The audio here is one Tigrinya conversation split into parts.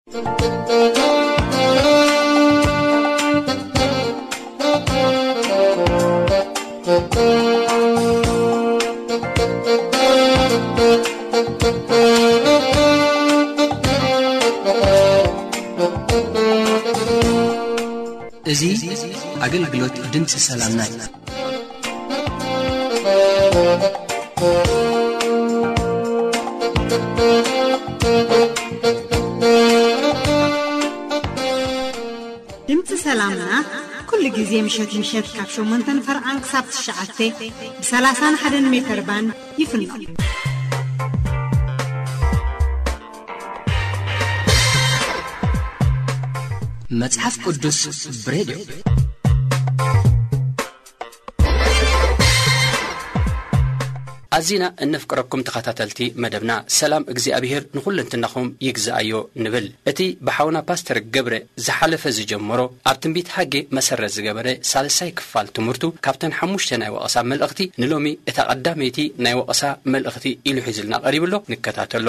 እዚ ኣገልግሎት ድምፂ ሰላምና እዩ። ድምፂ ሰላምና ኩሉ ግዜ ምሸት ምሸት ካብ ሸሞንተ ንፈርቓን ክሳብ ትሽዓተ ብ ሰላሳን ሓደን ሜተር ባንድ ይፍኖ። መጽሓፍ ቅዱስ ብሬድዮ። ኣዚና እነፍቅረኩም ተኸታተልቲ መደብና፣ ሰላም እግዚኣብሔር ንኹለንትናኹም ይግዝኣዮ ንብል። እቲ ብሓውና ፓስተር ገብረ ዝሓለፈ ዝጀመሮ ኣብ ትንቢት ሃጌ መሰረት ዝገበረ ሳልሳይ ክፋል ትምህርቱ፣ ካብተን ሓሙሽተ ናይ ወቐሳ መልእኽቲ ንሎሚ እታ ቀዳመይቲ ናይ ወቐሳ መልእኽቲ ኢሉ ሒዝልና ቀሪቡ ኣሎ። ንከታተሎ።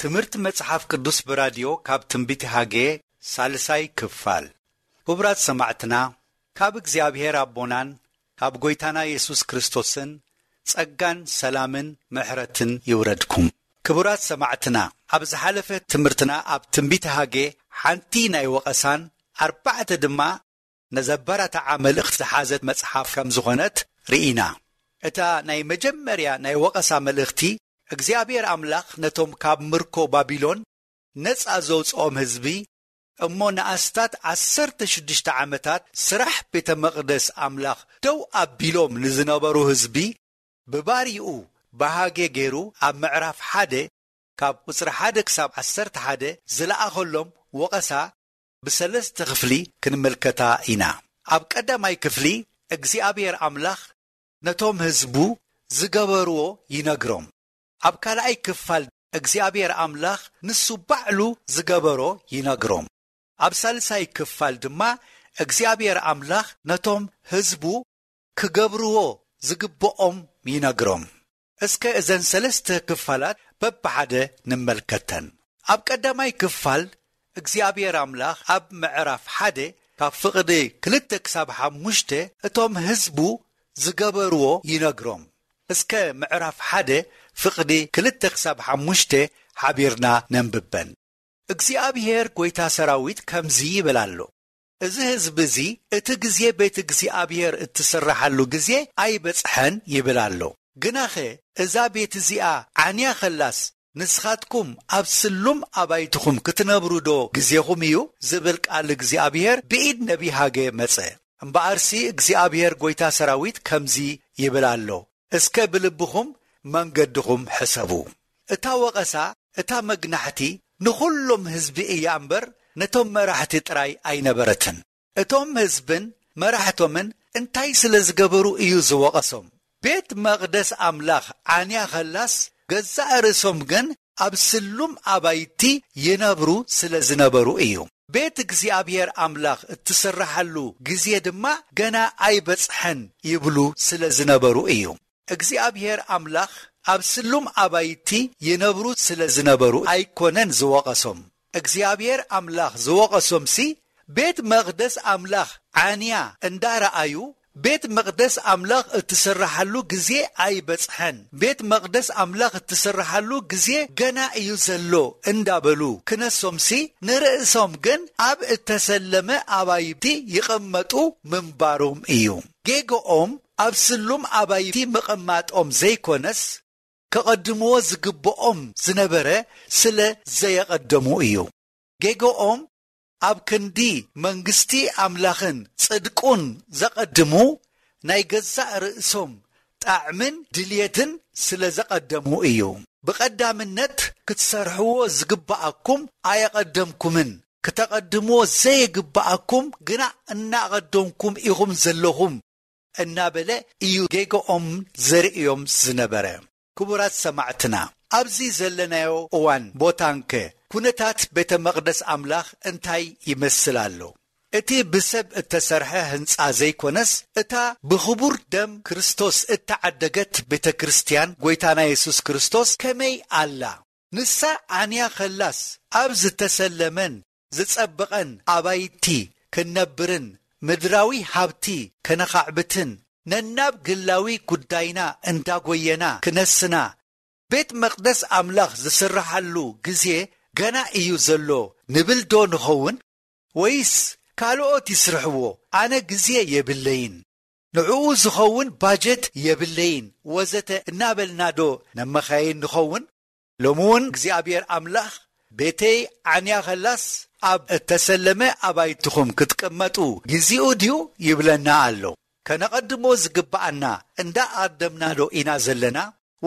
ትምህርቲ መጽሓፍ ቅዱስ ብራድዮ ካብ ትንቢት ሃጌ ሳልሳይ ክፋል። ክቡራት ሰማዕትና፣ ካብ እግዚኣብሔር ኣቦናን ካብ ጐይታና የሱስ ክርስቶስን ጸጋን ሰላምን ምሕረትን ይውረድኩም። ክቡራት ሰማዕትና፣ ኣብ ዝሓለፈ ትምህርትና ኣብ ትንቢት ሃጌ ሓንቲ ናይ ወቐሳን ኣርባዕተ ድማ ነዘበራትዓ መልእኽቲ ዝሓዘት መጽሓፍ ከም ዝኾነት ርኢና። እታ ናይ መጀመርያ ናይ ወቐሳ መልእኽቲ እግዚኣብሔር ኣምላኽ ነቶም ካብ ምርኮ ባቢሎን ነጻ ዘውጽኦም ህዝቢ፣ እሞ ንኣስታት ዓሰርተ ሽዱሽተ ዓመታት ስራሕ ቤተ መቕደስ ኣምላኽ ደው ኣቢሎም ንዝነበሩ ህዝቢ፣ ብባሪኡ ብሃጌ ገይሩ ኣብ ምዕራፍ ሓደ ካብ ቁጽሪ ሓደ ክሳብ ዓሰርተ ሓደ ዝለኣኸሎም ወቐሳ ብሰለስተ ክፍሊ ክንምልከታ ኢና። ኣብ ቀዳማይ ክፍሊ እግዚኣብሔር ኣምላኽ ነቶም ህዝቡ ዝገበርዎ ይነግሮም። ኣብ ካልኣይ ክፋል እግዚኣብሔር ኣምላኽ ንሱ ባዕሉ ዝገበሮ ይነግሮም። ኣብ ሳልሳይ ክፋል ድማ እግዚኣብሔር ኣምላኽ ነቶም ህዝቡ ክገብርዎ ዝግብኦም ይነግሮም። እስከ እዘን ሰለስተ ክፋላት በብሓደ ንመልከተን። ኣብ ቀዳማይ ክፋል እግዚኣብሔር ኣምላኽ ኣብ ምዕራፍ ሓደ ካብ ፍቕዲ ክልተ ክሳብ ሓሙሽተ እቶም ህዝቡ ዝገበርዎ ይነግሮም። እስከ ምዕራፍ ሓደ ፍቕዲ ክልተ ክሳብ ሓሙሽተ ሓቢርና ነንብበን። እግዚኣብሔር ጐይታ ሰራዊት ከምዚ ይብል ኣሎ፣ "እዚ ህዝቢ እዚ እቲ ግዜ ቤት እግዚኣብሔር እትስርሓሉ ግዜ ኣይበጽሐን" ይብል ኣሎ። ግናኸ እዛ ቤት እዚኣ ዓንያ ኸላስ ንስኻትኩም ኣብ ስሉም ኣባይትኹም ክትነብሩ ዶ ግዜኹም እዩ? ዝብል ቃል እግዚኣብሔር ብኢድ ነቢ ሃገ መጸ። እምበኣርሲ እግዚኣብሔር ጐይታ ሰራዊት ከምዚ ይብል ኣሎ፣ "እስከ ብልብኹም መንገድኹም ሕሰቡ።" እታ ወቐሳ፣ እታ መግናሕቲ ንኹሎም ህዝቢ እያ እምበር ነቶም መራሕቲ ጥራይ ኣይነበረትን። እቶም ህዝብን መራሕቶምን እንታይ ስለ ዝገበሩ እዩ ዝወቐሶም? ቤት መቕደስ ኣምላኽ ዓንያ ኸላስ ገዛእ ርእሶም ግን ኣብ ስሉም ኣባይቲ ይነብሩ ስለ ዝነበሩ እዩ። ቤት እግዚኣብሔር ኣምላኽ እትስርሓሉ ግዜ ድማ ገና ኣይበጽሐን ይብሉ ስለ ዝነበሩ እዩ። እግዚኣብሔር ኣምላኽ ኣብ ስሉም ኣባይቲ ይነብሩ ስለ ዝነበሩ ኣይኮነን ዝወቐሶም። እግዚኣብሔር ኣምላኽ ዝወቐሶምሲ ቤት መቕደስ ኣምላኽ ዓንያ እንዳረኣዩ፣ ቤት መቕደስ ኣምላኽ እትስርሓሉ ግዜ ኣይበጽሐን፣ ቤት መቕደስ ኣምላኽ እትስርሓሉ ግዜ ገና እዩ ዘሎ እንዳበሉ ክነሶምሲ፣ ንርእሶም ግን ኣብ እተሰለመ ኣባይቲ ይቕመጡ ምንባሮም እዩ። ጌግኦም ኣብ ስሉም ኣባይቲ ምቕማጦም ዘይኮነስ፣ ከቐድምዎ ዝግብኦም ዝነበረ ስለ ዘየቐደሙ እዩ። ጌግኦም ኣብ ክንዲ መንግስቲ ኣምላኽን ጽድቁን ዘቐድሙ፣ ናይ ገዛእ ርእሶም ጣዕምን ድልየትን ስለ ዘቐደሙ እዩ። ብቐዳምነት ክትሰርሕዎ ዝግብኣኩም ኣየቐደምኩምን፣ ክተቐድምዎ ዘይግብኣኩም ግና እናቐደምኩም ኢኹም ዘለኹም እናበለ እዩ ጌግኦም ዘርእዮም ዝነበረ። ክቡራት ሰማዕትና፣ ኣብዚ ዘለናዮ እዋን ቦታንከ ኩነታት ቤተ መቕደስ ኣምላኽ እንታይ ይመስል ኣሎ? እቲ ብሰብ እተሰርሐ ህንጻ ዘይኮነስ፣ እታ ብኽቡር ደም ክርስቶስ እተዓደገት ቤተ ክርስቲያን ጐይታና የሱስ ክርስቶስ ከመይ ኣላ? ንሳ ዓንያ ኸላስ፣ ኣብ ዝተሰለመን ዝጸበቐን ኣባይቲ ክንነብርን ምድራዊ ሃብቲ ከነኻዕብትን፣ ነናብ ግላዊ ጉዳይና እንዳጎየና ክነስና፣ ቤት መቕደስ ኣምላኽ ዝስርሓሉ ግዜ ገና እዩ ዘሎ ንብል ዶ ንኸውን? ወይስ ካልኦት ይስርሕዎ፣ ኣነ ግዜ የብለይን፣ ንዕኡ ዝኸውን ባጀት የብለይን፣ ወዘተ እናበልና ዶ ነመኻይን ንኸውን? ሎሚ እውን እግዚኣብሔር ኣምላኽ፣ "ቤተይ ዓንያ ኸላስ ኣብ እተሰለመ ኣባይትኹም ክትቅመጡ ግዚኡ ድዩ?" ይብለና ኣሎ። ከነቐድሞ ዝግብኣና እንዳኣቐደምና ዶ ኢና ዘለና?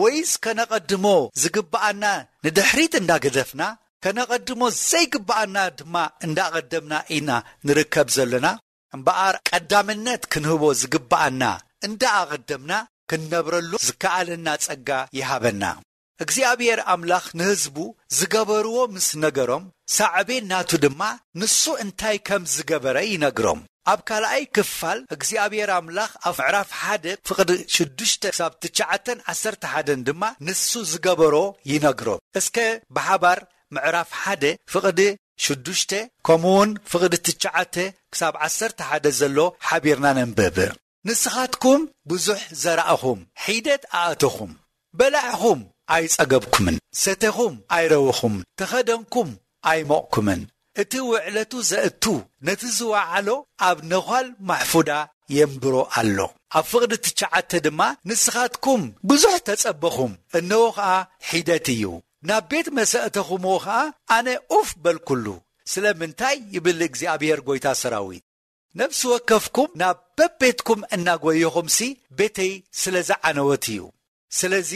ወይስ ከነቐድሞ ዝግብኣና ንድሕሪት እንዳገደፍና፣ ከነቐድሞ ዘይግብኣና ድማ እንዳቐደምና ኢና ንርከብ ዘለና? እምበኣር ቀዳምነት ክንህቦ ዝግብኣና እንዳኣቐደምና ክንነብረሉ ዝከኣለና ጸጋ ይሃበና። እግዚኣብሔር ኣምላኽ ንህዝቡ ዝገበርዎ ምስ ነገሮም፣ ሳዕቤን ናቱ ድማ ንሱ እንታይ ከም ዝገበረ ይነግሮም። ኣብ ካልኣይ ክፋል እግዚኣብሔር ኣምላኽ ኣብ ምዕራፍ ሓደ ፍቕዲ ሽዱሽተ ክሳብ ትሽዓተን ዓሰርተ ሓደን ድማ ንሱ ዝገበሮ ይነግሮም። እስከ ብሓባር ምዕራፍ ሓደ ፍቕዲ ሽዱሽተ ከምኡውን ፍቕዲ ትሽዓተ ክሳብ ዓሰርተ ሓደ ዘሎ ሓቢርና ነንብብ። "ንስኻትኩም ብዙሕ ዘራእኹም፣ ሒደት ኣእተኹም፣ በላዕኹም ኣይጸገብኩምን፣ ሰተኹም ኣይረወኹምን፣ ተኸደንኩም ኣይሞቕኩምን። እቲ ውዕለቱ ዘእቱ ነቲ ዝወዓሎ ኣብ ነዃል ማሕፉዳ የንብሮ ኣሎ።" ኣብ ፍቕዲ ትሽዓተ ድማ፣ "ንስኻትኩም ብዙሕ ተጸበኹም፣ እነሆ ኸኣ ሒደት እዩ፣ ናብ ቤት መሰእተኹምዎ ኸኣ ኣነ ኡፍ በልኩሉ። ስለምንታይ?" ይብል እግዚኣብሔር ጐይታ ሰራዊት። "ነፍሲ ወከፍኩም ናብ በቤትኩም እናጎየኹምሲ ቤተይ ስለ ዝዓነወት እዩ። ስለዚ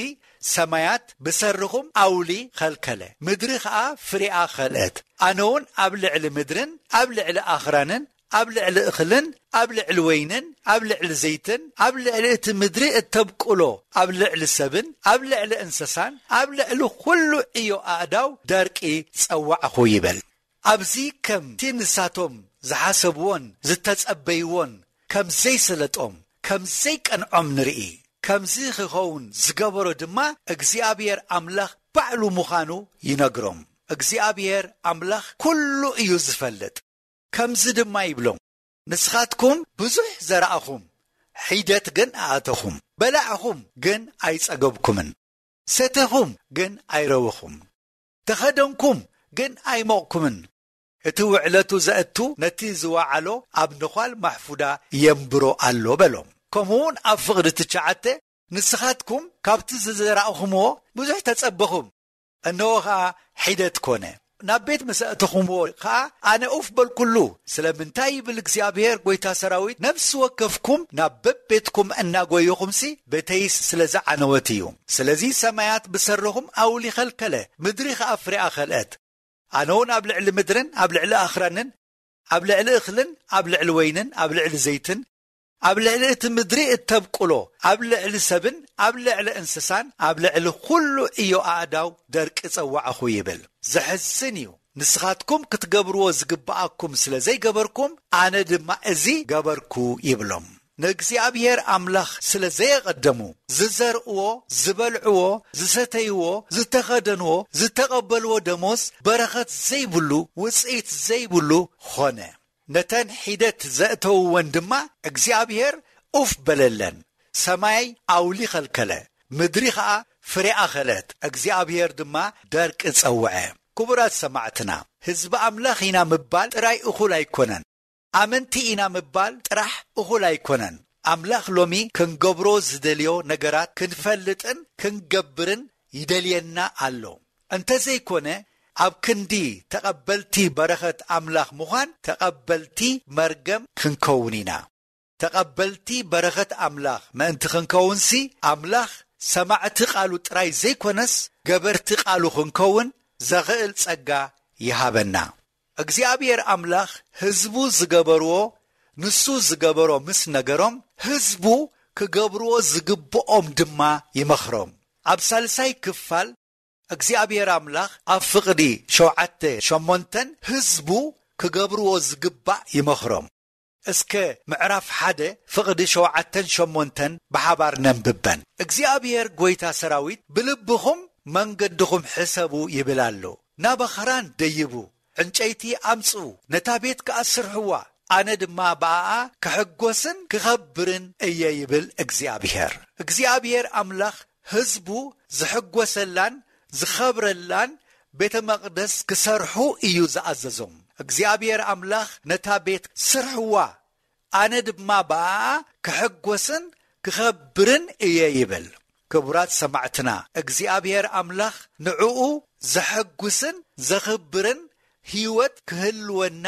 ሰማያት ብሰርኹም ኣውሊ ኸልከለ፣ ምድሪ ኸኣ ፍሬኣ ኸልአት። ኣነ እውን ኣብ ልዕሊ ምድርን ኣብ ልዕሊ ኣኽራንን ኣብ ልዕሊ እኽልን ኣብ ልዕሊ ወይንን ኣብ ልዕሊ ዘይትን ኣብ ልዕሊ እቲ ምድሪ እተብቁሎ ኣብ ልዕሊ ሰብን ኣብ ልዕሊ እንስሳን ኣብ ልዕሊ ኹሉ ዕዮ ኣእዳው ደርቂ ጸዋዕኹ" ይበል። ኣብዚ ከምቲ ንሳቶም ዝሓሰብዎን ዝተጸበይዎን ከም ዘይሰለጦም፣ ከም ዘይቀንዖም ንርኢ። ከምዚ ክኸውን ዝገበሮ ድማ እግዚኣብሔር ኣምላኽ ባዕሉ ምዃኑ ይነግሮም። እግዚኣብሔር ኣምላኽ ኩሉ እዩ ዝፈልጥ። ከምዚ ድማ ይብሎም፣ ንስኻትኩም ብዙሕ ዘራእኹም፣ ሒደት ግን ኣእተኹም። በላዕኹም ግን ኣይጸገብኩምን። ሰተኹም ግን ኣይረወኹም። ተኸደንኩም ግን ኣይሞቕኩምን። እቲ ውዕለቱ ዘእቱ ነቲ ዝወዓሎ ኣብ ነዃል ማሕፉዳ የንብሮ ኣሎ በሎም። ከምኡውን ኣብ ፍቕዲ ትሽዓተ ንስኻትኩም ካብቲ ዝዘራእኹምዎ ብዙሕ ተጸበኹም። እነሆ ኸኣ ሒደት ኮነ። ናብ ቤት ምስ ኣእተኹምዎ ኸኣ ኣነ ኡፍ በልኩሉ። ስለምንታይ ይብል እግዚኣብሔር ጐይታ ሰራዊት፣ ነፍሲ ወከፍኩም ናብ በቤትኩም እናጎየኹምሲ፣ ቤተይስ ስለ ዝዓነወት እዩ። ስለዚ ሰማያት ብሰረኹም ኣውሊ ኸልከለ፣ ምድሪ ኸኣ ፍሬኣ ኸልአት። ኣነ እውን ኣብ ልዕሊ ምድርን ኣብ ልዕሊ ኣኽራንን፣ ኣብ ልዕሊ እኽልን ኣብ ልዕሊ ወይንን ኣብ ልዕሊ ዘይትን፣ ኣብ ልዕሊ እቲ ምድሪ እተብቁሎ፣ ኣብ ልዕሊ ሰብን ኣብ ልዕሊ እንስሳን ኣብ ልዕሊ ኩሉ እዮ ኣእዳው ደርቂ ጸዋዕኹ ይብል። ዘሕዝን እዩ። ንስኻትኩም ክትገብርዎ ዝግብኣኩም ስለ ዘይገበርኩም፣ ኣነ ድማ እዚ ገበርኩ ይብሎም። ንእግዚኣብሔር ኣምላኽ ስለ ዘየቐደሙ፣ ዝዘርእዎ፣ ዝበልዕዎ፣ ዝሰተይዎ፣ ዝተኸደንዎ፣ ዝተቐበልዎ ደሞዝ በረኸት ዘይብሉ፣ ውጽኢት ዘይብሉ ኾነ። ነተን ሒደት ዘእተውወን ድማ እግዚኣብሔር ኡፍ በለለን። ሰማይ ኣውሊ ኸልከለ፣ ምድሪ ኸኣ ፍሬኣ ኸለት፣ እግዚኣብሔር ድማ ደርቂ ጸውዐ። ክቡራት ሰማዕትና፣ ህዝቢ ኣምላኽ ኢና ምባል ጥራይ እኹል ኣይኮነን። ኣመንቲ ኢና ምባል ጥራሕ እኹል ኣይኮነን። ኣምላኽ ሎሚ ክንገብሮ ዝደልዮ ነገራት ክንፈልጥን ክንገብርን ይደልየና ኣሎ። እንተዘይኮነ፣ ኣብ ክንዲ ተቐበልቲ በረኸት ኣምላኽ ምዃን፣ ተቐበልቲ መርገም ክንከውን ኢና። ተቐበልቲ በረኸት ኣምላኽ ምእንቲ ክንከውንሲ፣ ኣምላኽ ሰማዕቲ ቃሉ ጥራይ ዘይኮነስ፣ ገበርቲ ቃሉ ክንከውን ዘኽእል ጸጋ ይሃበና። እግዚኣብሔር ኣምላኽ ህዝቡ ዝገበርዎ፣ ንሱ ዝገበሮ ምስ ነገሮም፣ ህዝቡ ክገብርዎ ዝግብኦም ድማ ይመኽሮም። ኣብ ሳልሳይ ክፋል እግዚኣብሔር ኣምላኽ ኣብ ፍቕዲ ሸውዓተ ሸሞንተን ህዝቡ ክገብርዎ ዝግባእ ይመኽሮም። እስከ ምዕራፍ ሓደ ፍቕዲ ሸውዓተን ሸሞንተን ብሓባር ነንብበን። እግዚኣብሔር ጐይታ ሰራዊት ብልብኹም መንገድኹም ሕሰቡ ይብል ኣሎ። ናብ ኣኽራን ደይቡ፣ ዕንጨይቲ ኣምጽኡ፣ ነታ ቤት ከኣ ስርሕዋ፣ ኣነ ድማ ብኣኣ ክሕጎስን ክኸብርን እየ ይብል እግዚኣብሔር። እግዚኣብሔር ኣምላኽ ህዝቡ ዝሕጎሰላን ዝኸብረላን ቤተ መቕደስ ክሰርሑ እዩ ዝኣዘዞም። እግዚኣብሔር ኣምላኽ ነታ ቤት ስርሕዋ፣ ኣነ ድማ ብኣኣ ክሕጎስን ክኸብርን እየ ይብል። ክቡራት ሰማዕትና፣ እግዚኣብሔር ኣምላኽ ንዕኡ ዘሐጉስን ዘኽብርን ህይወት ክህልወና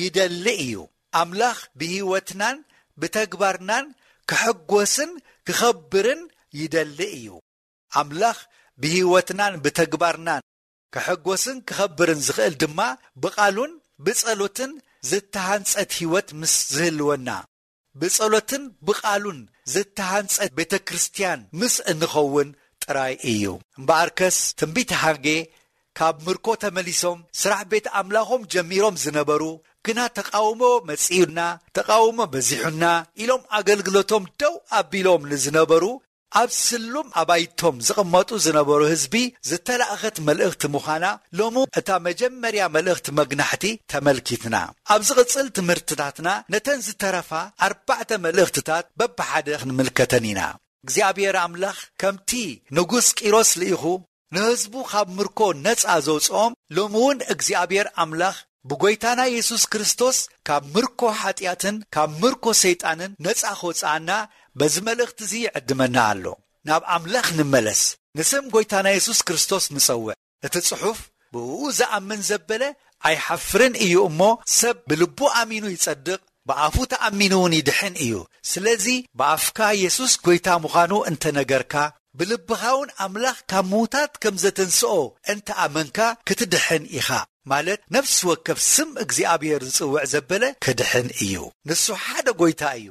ይደሊ እዩ። ኣምላኽ ብህይወትናን ብተግባርናን ክሕጎስን ክኸብርን ይደሊ እዩ። ኣምላኽ ብህይወትናን ብተግባርናን ክሕጎስን ክኸብርን ዝኽእል ድማ ብቓሉን ብጸሎትን ዝተሃንጸት ህይወት ምስ ዝህልወና፣ ብጸሎትን ብቓሉን ዝተሃንጸት ቤተ ክርስቲያን ምስ እንኸውን ጥራይ እዩ። እምበኣርከስ ትንቢት ሃጌ ካብ ምርኮ ተመሊሶም ስራሕ ቤት ኣምላኾም ጀሚሮም ዝነበሩ፣ ግና ተቃውሞ መጺኡና፣ ተቃውሞ በዚሑና ኢሎም ኣገልግሎቶም ደው ኣቢሎም ንዝነበሩ፣ ኣብ ስሉም ኣባይቶም ዝቕመጡ ዝነበሩ ህዝቢ ዝተላእኸት መልእኽቲ ምዃና ሎሚ እታ መጀመርያ መልእኽቲ መግናሕቲ ተመልኪትና። ኣብ ዝቕጽል ትምህርትታትና ነተን ዝተረፋ ኣርባዕተ መልእኽትታት በብሓደ ክንምልከተን ኢና። እግዚኣብሔር ኣምላኽ ከምቲ ንጉስ ቂሮስ ልኢኹ ንህዝቡ ካብ ምርኮ ነጻ ዘውጽኦም፣ ሎሚ እውን እግዚኣብሔር ኣምላኽ ብጎይታና የሱስ ክርስቶስ ካብ ምርኮ ሓጢኣትን ካብ ምርኮ ሰይጣንን ነጻ ክወጽኣና በዚ መልእኽቲ እዚ ይዕድመና ኣሎ። ናብ ኣምላኽ ንመለስ፣ ንስም ጎይታና የሱስ ክርስቶስ ንጸውዕ። እቲ ጽሑፍ፣ "ብእኡ ዝኣምን ዘበለ ኣይሓፍርን እዩ እሞ፣ ሰብ ብልቡ ኣሚኑ ይጸድቕ፣ ብኣፉ ተኣሚኑ እውን ይድሕን እዩ። ስለዚ ብኣፍካ የሱስ ጎይታ ምዃኑ እንተነገርካ፣ ብልብኻ እውን ኣምላኽ ካብ ምዉታት ከም ዘተንስኦ እንተኣመንካ፣ ክትድሕን ኢኻ።" ማለት፣ ነፍሲ ወከፍ ስም እግዚኣብሔር ዝጽውዕ ዘበለ ክድሕን እዩ። ንሱ ሓደ ጎይታ እዩ።